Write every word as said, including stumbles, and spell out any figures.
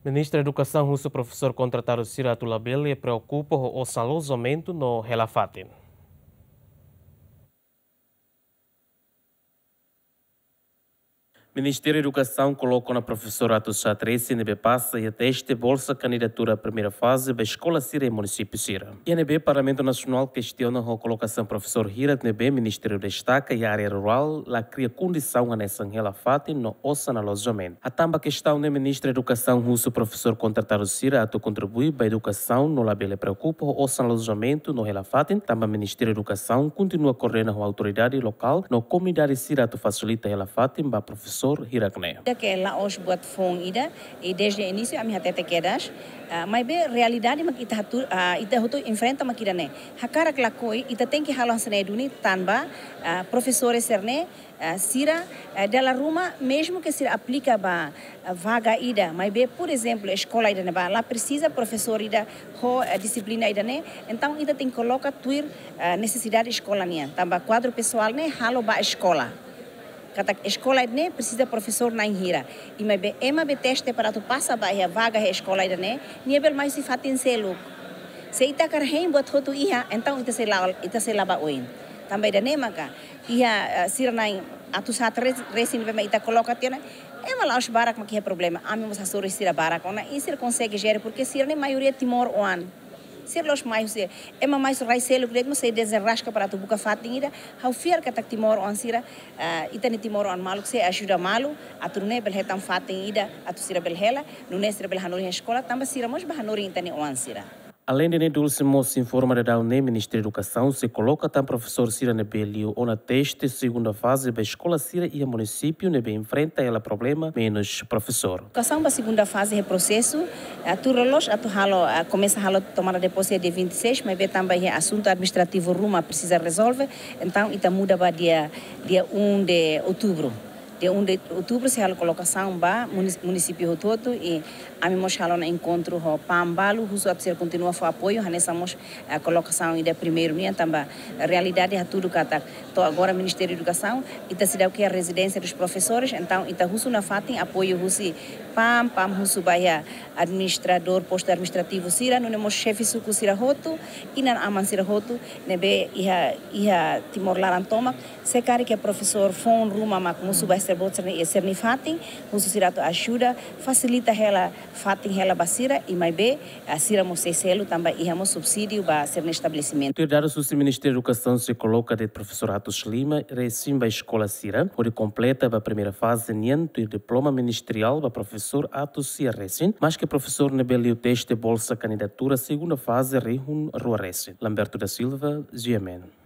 Ministra Edukasaun husu profesór kontratadu sira atu labele preokupa ho osan alojamentu no hela fatin. Ministériu Edukasaun koloka ona profesór Atos Sá Tresi ne'ebé pasa iha teste bolsa kandidatura primeira faze ba eskola sira iha munisípiu sira. Iha ne'ebé Parlamentu Nasionál kestiona ho kolokasaun profesór hirak ne'ebé Ministériu destaka iha área rurál la kria kondisaun hanesan hela fatin no osan alojamentu. Hatán ba kestaun ne'e, Ministra Edukasaun husu profesór kontratadu sira atu kontribui ba edukasaun no labele preokupa ho osan alojamentu no hela fatin, tanba Ministériu Edukasaun kontinua koordena ho autoridade lokál no komunidade sira atu fasilita hela fatin ba profesór hirak ne'e. Ida ke la'ós buat foun ida, i desde inísiu ami hatete kedas, ah, maibé realidade mak ita hatu-, ah, ita hotu enfrenta mak ida-ne'e. Hakarak lakohi, ita tenke halo hanesan ne'e duni tanba, ah, profesores sira-ne'e, ah, sira, ah, dala ruma, mezmu ke sira aplika ba, ah, vaga ida, maibé, por ezemplu, eskola ida ne'ebá la presiza profesór ida ho, ah, dixiplina ida-ne'e, entaun ita tenke koloka tuir, ah, nesesidade eskola nian. Tanba kuadru pesoál ne'e halo ba eskola. Katak eskola ida-ne'e presiza profesór na'in hira. I maibé ema be teste para atu pasa ba iha vaga iha eskola ida-ne'e, nia bele mai husi fatin seluk. Se ita hakarak hein buat hotu iha, entaun ita sei la, ita sei la ba oin. Tanba ida-ne'e maka, iha, eh, sira na'in atus haat re-, resin be mak ita koloka tiha ona, ema la'ós barak mak iha problema, ami mós hasoru sira barak ona, i sira konsege jere, porke sira-ne'e maioria timoroan. Sira la'ós mai husi, ema mai husi rai seluk de'it mós sei dezenraska para atu buka fatin ida, ha'u fiar katak timoroan sira, ah, ita-nia timoroan maluk sei ajuda malu, atu nune'e bele hetan fatin ida, atu sira bele hela, nune'e sira bele hanorin eskola, tanba sira mós bá hanorin ita-nia oan sira. Aleinde ne'e, Dulce mós informa daudaun ne'e Ministériu Edukasaun sei koloka tan profesór sira ne'ebé liu ona teste segunda faze ba eskola sira iha munisípiu ne'ebé enfrenta hela problema menus profesór. Edukasaun ba segunda faze iha prosesu, eh, tuir loloos atu halo, eh, komesa halo tomada de pose dia vinte e seis, maibé tanba iha asuntu administrativu ruma presiza rezolve, entaun ita muda ba dia, dia um de outubro. Dia um de outubro sei halo kolokasaun ba munis-, munisípiu hotu-hotu i ami mós halo ona enkontru ho PAM balu, husu atu sira kontinua fó apoiu, hanesan mós, eh, kolokasaun ida primeiru nian, tanba realidade hatudu katak to'o agora Ministériu Edukasaun, ita seidauk iha rezidénsia dos profesores, entaun ita husu nafatin apoiu husi PAM, PAM husu ba iha administradór postu administrativu sira, nune'e mós xefe suku sira hotu, inan-aman sira hotu, ne'ebé iha, iha Timor laran tomak, se karik iha profesór foun ruma mak mosu ba sira-boot sira-nia, sira-nia fatin, husu sira atu ajuda, fasilita hela, fatin hela ba sira, i maibé, ah, sira mós sei selu tanba iha mós subsídiu ba sira-nia estabelesimentu. Tuir dadus husi Ministériu Edukasaun sei koloka de'it profesór Atos Lima resin ba eskola sira, hodi kompleta ba primeira faze nian tuir diploma ministeriál ba profesór Atos Sia resin, maske profesór ne'ebé liu teste bolsa kandidatura segunda faze rihun rua resin. Lamberto da Silva, G M N.